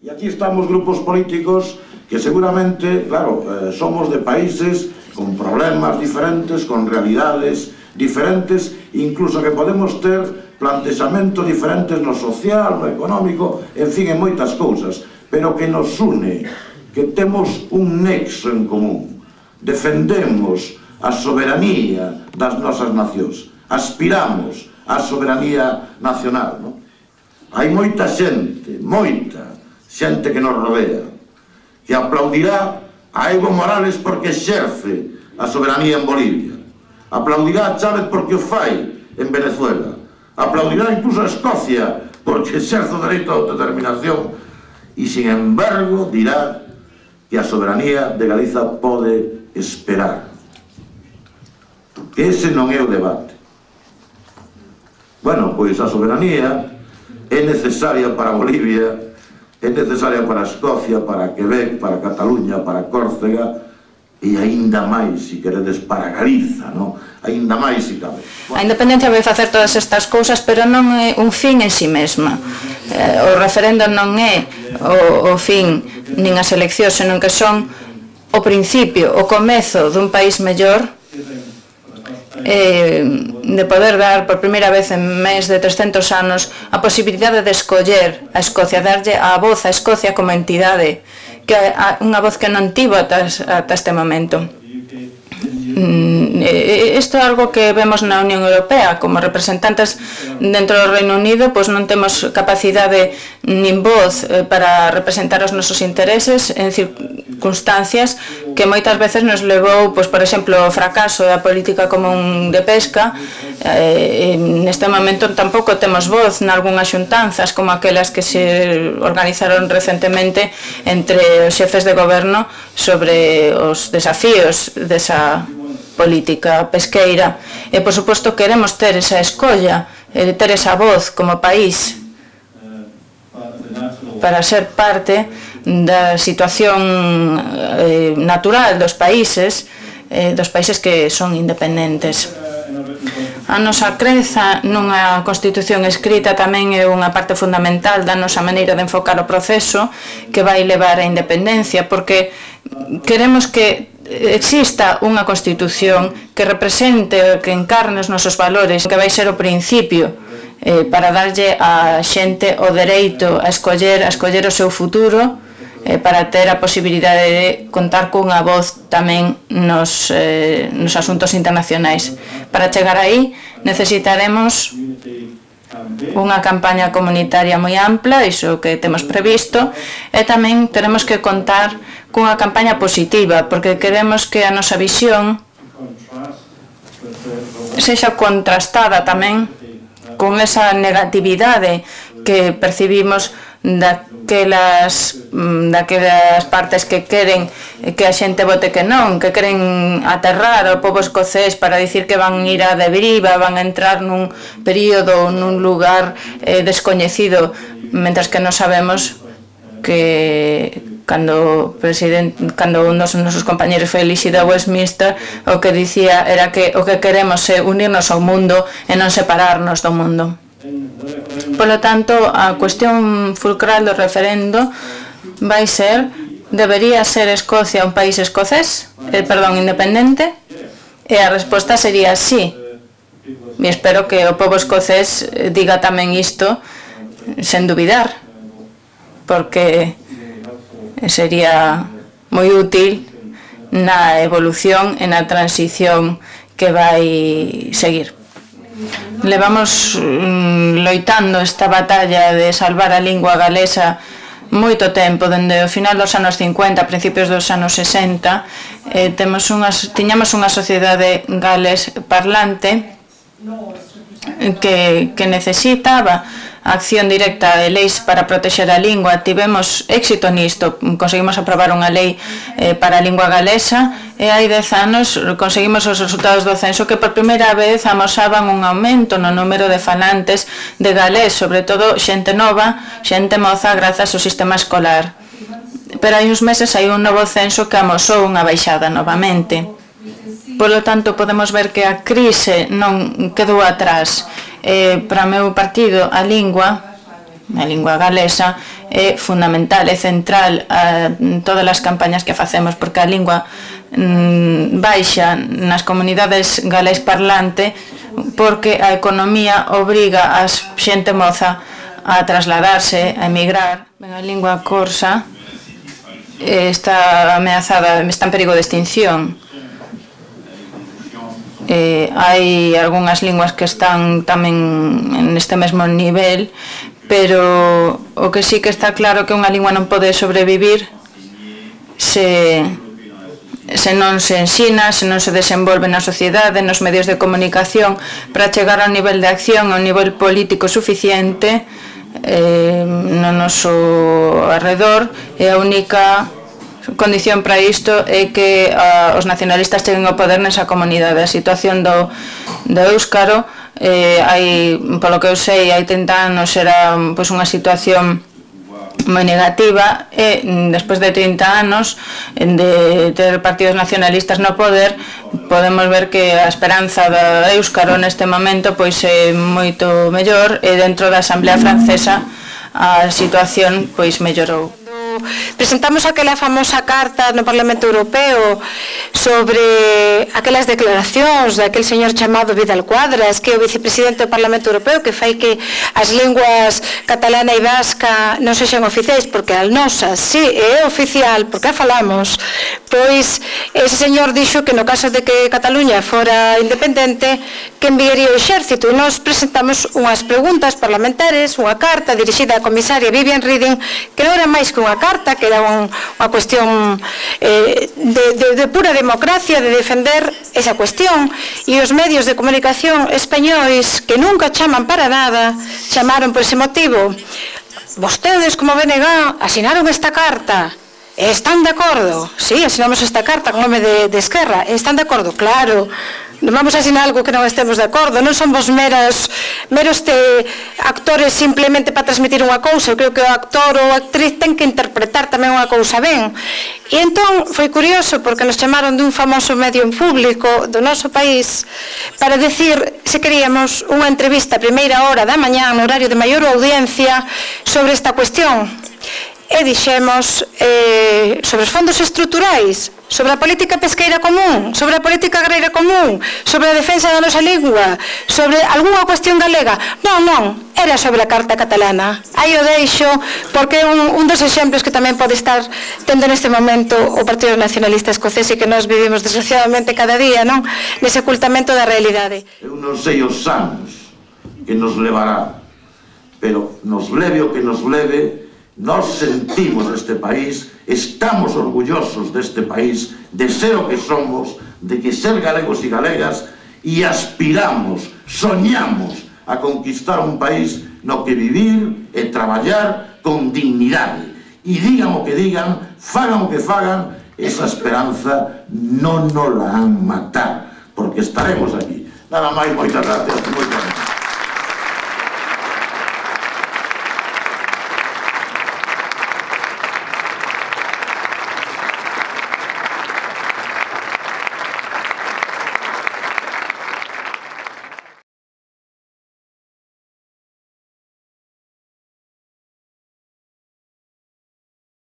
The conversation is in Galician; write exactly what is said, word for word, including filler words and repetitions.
E aquí estamos grupos políticos que seguramente, claro, eh, somos de países con problemas diferentes, con realidades diferentes, incluso que podemos ter plantexamentos diferentes no social, no económico, en fin, en moitas cousas, pero que nos une, que temos un nexo en común. Defendemos a soberanía das nosas nacións, aspiramos á soberanía nacional, non? Hai moita xente, moita xente que nos rodea, que aplaudirá a Evo Morales porque exerce a soberanía en Bolivia, aplaudirá a Chávez porque o fai en Venezuela, aplaudirá incluso a Escocia porque exerce o dereito a autodeterminación e, sin embargo, dirá que a soberanía de Galiza pode esperar. Que ese non é o debate. Bueno, pois a soberanía é necesaria para Bolivia, é necesaria para Escocia, para Quebec, para Cataluña, para Córcega e aínda máis, se queredes, para Galiza, non? Aínda máis, se cabe. A independencia vai facer todas estas cousas, pero non é un fin en si mesma. O referendo non é o fin nin as eleccións, senón que son o principio, o comezo dun país mellor, Eh, de poder dar por primeira vez en máis de trescentos anos a posibilidade de escoller a Escocia, darlle a voz a Escocia como entidade, que é unha voz que non tivo ata, ata este momento. Isto é algo que vemos na Unión Europea. Como representantes dentro do Reino Unido, pois non temos capacidade nin voz para representar os nosos intereses en circunstancias que moitas veces nos levou, pois, por exemplo, o fracaso da política común de pesca. Eh, neste momento tampouco temos voz nalgúnas xuntanzas como aquelas que se organizaron recentemente entre os xefes de goberno sobre os desafíos desa política pesqueira. E, por suposto, queremos ter esa escolla, ter esa voz como país para ser parte da situación eh, natural dos países, eh, dos países que son independentes. A nosa creza nunha Constitución escrita tamén é unha parte fundamental da nosa maneira de enfocar o proceso que vai levar á independencia, porque queremos que exista unha Constitución que represente, que encarne os nosos valores, que vai ser o principio eh, para darlle a xente o dereito a escoller, a escoller o seu futuro, eh, para ter a posibilidade de contar cunha voz tamén nos, eh, nos asuntos internacionais. Para chegar aí necesitaremos unha campaña comunitaria moi ampla, iso que temos previsto, e tamén teremos que contar cunha campaña positiva, porque queremos que a nosa visión sexa contrastada tamén con esa negatividade que percibimos daquelas, daquelas partes que queren que a xente vote que non, que queren aterrar ao pobo escocés para dicir que van ir á deriva, van a entrar nun período, nun lugar eh, descoñecido, mentras que non sabemos que cando presidente, cando un dos nosos compañeros foi elixido a Westminster, o que dicía era que o que queremos é unirnos ao mundo e non separarnos do mundo. Polo tanto, a cuestión fulcral do referendo vai ser: debería ser Escocia un país escocés, eh, perdón, independente? E a resposta sería sí. E espero que o pobo escocés diga tamén isto sen dubidar, porque sería moi útil na evolución e na transición que vai seguir. Levamos mm, loitando esta batalla de salvar a lingua galesa moito tempo, dende o final dos anos cincuenta, a principios dos anos sesenta. Eh, temos unhas, tiñamos unha sociedade gales parlante que, que necesitaba acción directa de leis para protexer a lingua. Tivemos éxito nisto, conseguimos aprobar unha lei eh, para a lingua galesa, e hai dez anos conseguimos os resultados do censo que por primeira vez amosaban un aumento no número de falantes de galés, sobre todo xente nova, xente moza, grazas ao sistema escolar. Pero hai uns meses hai un novo censo que amosou unha baixada novamente. Polo tanto, podemos ver que a crise non quedou atrás. Eh, para o meu partido, a lingua A lingua galesa é fundamental, é central en todas as campañas que facemos, porque a lingua baixa nas comunidades galés parlante porque a economía obriga a xente moza a trasladarse, a emigrar. A lingua corsa está ameazada, está en perigo de extinción. Eh, hai algunhas linguas que están tamén neste mesmo nivel, pero o que sí que está claro que unha lingua non pode sobrevivir se, se non se ensina, se non se desenvolve na sociedade, nos medios de comunicación, para chegar ao nivel de acción, ao nivel político suficiente eh, no noso arredor. E a única condición para isto é que uh, os nacionalistas cheguen ao poder nesa comunidade. A situación do, do éuscaro, eh, hai, polo que eu sei, hai trinta anos era pois, unha situación moi negativa, e despois de trinta anos de ter partidos nacionalistas no poder, podemos ver que a esperanza do éuscaro neste momento pois é moito mellor, e dentro da Asamblea Francesa a situación pois mellorou. Presentamos aquela famosa carta no Parlamento Europeo sobre aquelas declaracións daquele señor chamado Vidal Quadras, que é o vicepresidente do Parlamento Europeo, que fai que as linguas catalana e vasca non sexan oficiais, porque a nosa sí é oficial, porque a falamos. Pois ese señor dixo que no caso de que Cataluña fora independente, que enviaría o exército, e nós presentamos unhas preguntas parlamentares, unha carta dirixida á comisaria Viviane Reding, que non era máis que unha carta, que era un, unha cuestión eh, de, de, de pura democracia, de defender esa cuestión, e os medios de comunicación españois, que nunca chaman para nada, chamaron por ese motivo. Vostedes, como B N G, asinaron esta carta, están de acordo? Sí, asinamos esta carta con nome de, de Esquerra, están de acordo? Claro. Non vamos a asinar algo que non estemos de acordo, non somos meros, meros te, actores simplemente para transmitir unha cousa. Eu creo que o actor ou a actriz ten que interpretar tamén unha cousa ben. E entón foi curioso porque nos chamaron dun famoso medio público do noso país para decir se queríamos unha entrevista a primeira hora da mañá no horario de maior audiencia sobre esta cuestión. E dixemos eh, sobre os fondos estruturais, sobre a política pesqueira común, sobre a política agraria común, sobre a defensa da nosa lingua, sobre algunha cuestión galega. Non, non, era sobre a Carta Catalana. Aí o deixo, porque é un, un dos exemplos que tamén pode estar tendo neste momento o Partido Nacionalista Escocés, e que nós vivimos desgraciadamente cada día, non? Nese ocultamento da realidade. Eu non sei os anos que nos levará, pero nos leve o que nos leve, nós sentimos este país, estamos orgullosos deste país, de ser o que somos, de que ser galegos e galegas, e aspiramos, soñamos a conquistar un país no que vivir e traballar con dignidade. E digan o que digan, fagan o que fagan, esa esperanza non nos la han matar, porque estaremos aquí. Nada máis, moitas gracias.